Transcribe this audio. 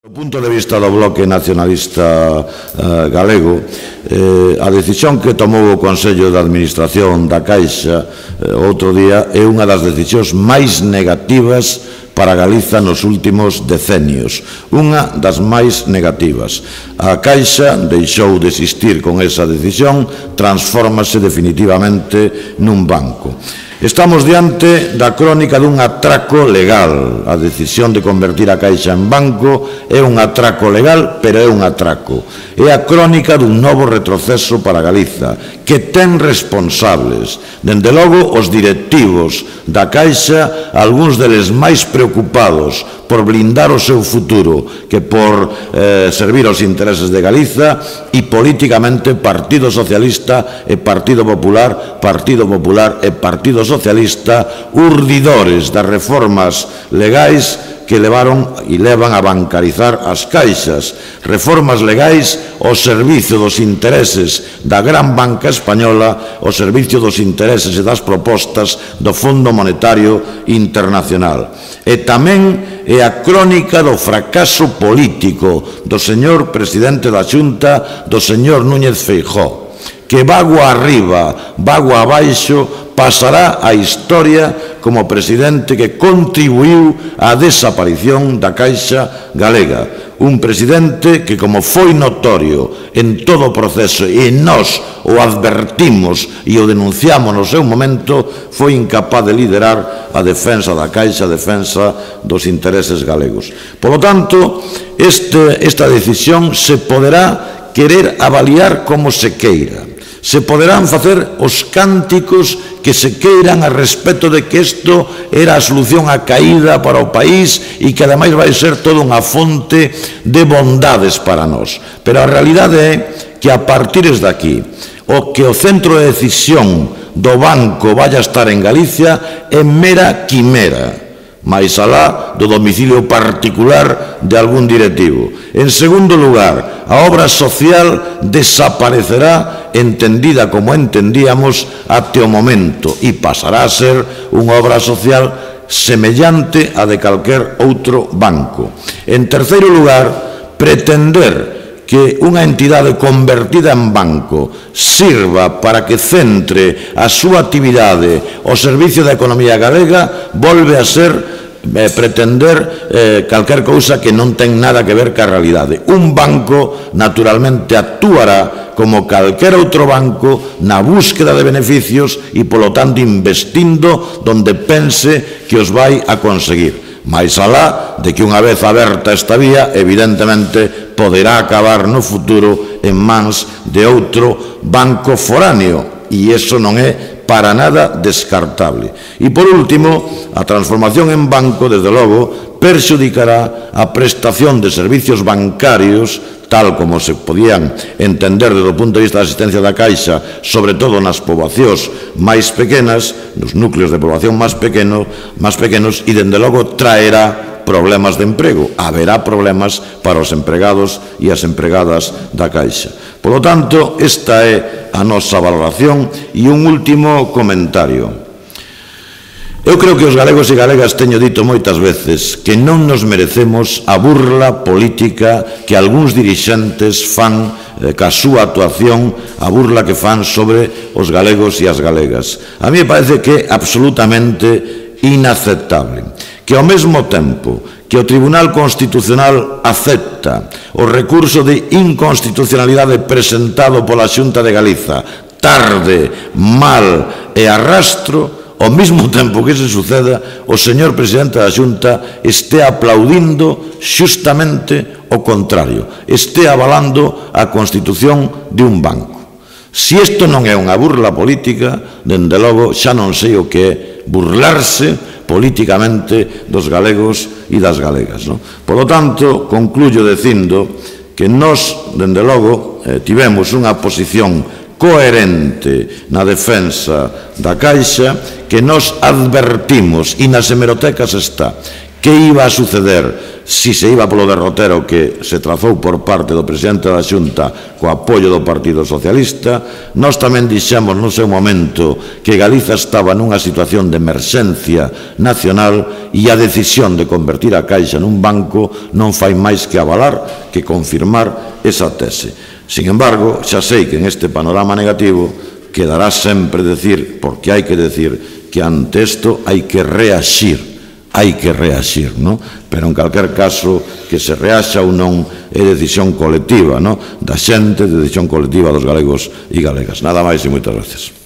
Do punto de vista do Bloque Nacionalista Galego, a decisión que tomou o Consello de Administración da Caixa outro día é unha das decisións máis negativas para Galiza nos últimos decenios, unha das máis negativas. A Caixa deixou de existir con esa decisión, transfórmase definitivamente nun banco. Estamos diante da crónica dun atraco legal. A decisión de convertir a Caixa en banco é un atraco legal, pero é un atraco. É a crónica dun novo retroceso para Galiza, que ten responsables. Dende logo, os directivos da Caixa, algúns deles máis preocupados por blindar o seu futuro que por servir aos intereses de Galiza, e políticamente Partido Socialista e Partido Popular e Partido Socialista, urdidores das reformas legais que levaron e levan a bancarizar as caixas, reformas legais ao servicio dos intereses da gran banca española, ao servicio dos intereses e das propostas do Fondo Monetario Internacional. E tamén é a crónica do fracaso político do señor presidente da Xunta, do señor Núñez Feijóo, que vago arriba, vago abaixo, pasará a historia como presidente que contribuiu á desaparición da Caixa Galega. Un presidente que, como foi notorio en todo o proceso, e nós o advertimos e o denunciamos no seu momento, foi incapaz de liderar a defensa da Caixa, a defensa dos intereses galegos. Por lo tanto, esta decisión se poderá querer avaliar como se queira. Se poderán facer os cánticos que se queiran a respecto de que isto era a solución á caída para o país e que ademais vai ser toda unha fonte de bondades para nós. Pero a realidade é que a partir de aquí, o que o centro de decisión do banco vai a estar en Galicia é mera quimera, máis alá do domicilio particular de algún directivo. En segundo lugar, a obra social desaparecerá entendida como entendíamos até o momento e pasará a ser unha obra social semellante a de calquer outro banco. En terceiro lugar, pretender que unha entidade convertida en banco sirva para que centre a súa actividade ao servicio da economía galega volve a ser pretender calquer cousa que non ten nada que ver ca realidade. Un banco, naturalmente, actuará como calquer outro banco na búsqueda de beneficios e, polo tanto, investindo donde pense que os vai a conseguir. Mais alá de que unha vez aberta esta vía, evidentemente, poderá acabar no futuro en mans de outro banco foráneo, e iso non é para nada descartable. E, por último, a transformación en banco, desde logo, perxudicará a prestación de servicios bancarios, tal como se podían entender desde o punto de vista da asistencia da Caixa, sobre todo nas poboacións máis pequenas, nos núcleos de poboación máis pequenos, e, dende logo, traerá problemas de emprego. Haberá problemas para os empregados e as empregadas da Caixa. Por lo tanto, esta é a nosa valoración. E un último comentario. Eu creo que os galegos e galegas, teño dito moitas veces, que non nos merecemos a burla política que algúns dirixentes fan ca súa actuación, a burla que fan sobre os galegos e as galegas. A mí me parece que é absolutamente inaceptable que ao mesmo tempo que o Tribunal Constitucional acepta o recurso de inconstitucionalidade presentado pola Xunta de Galiza tarde, mal e arrastro, ao mesmo tempo que se suceda, o señor presidente da Xunta este aplaudindo xustamente o contrario, este avalando a constitución de un banco. Se isto non é unha burla política, dende logo xa non sei o que é burlarse políticamente dos galegos e das galegas. Por lo tanto, concluyo dicindo que nós, dende logo, tivemos unha posición coherente na defensa da Caixa, que nos advertimos, e nas hemerotecas está, que iba a suceder si se iba polo derrotero que se trazou por parte do presidente da Xunta co apoio do Partido Socialista. Nós tamén dixemos no seu momento que Galiza estaba nunha situación de emerxencia nacional e a decisión de convertir a Caixa nun banco non fai máis que avalar, que confirmar esa tese. Sin embargo, xa sei que en este panorama negativo quedará sempre decir, porque hai que decir, que ante isto hai que reaxir, non? Pero en calquer caso, que se reaxa ou non é decisión colectiva, non? Da xente, decisión colectiva dos galegos e galegas. Nada máis e moitas gracias.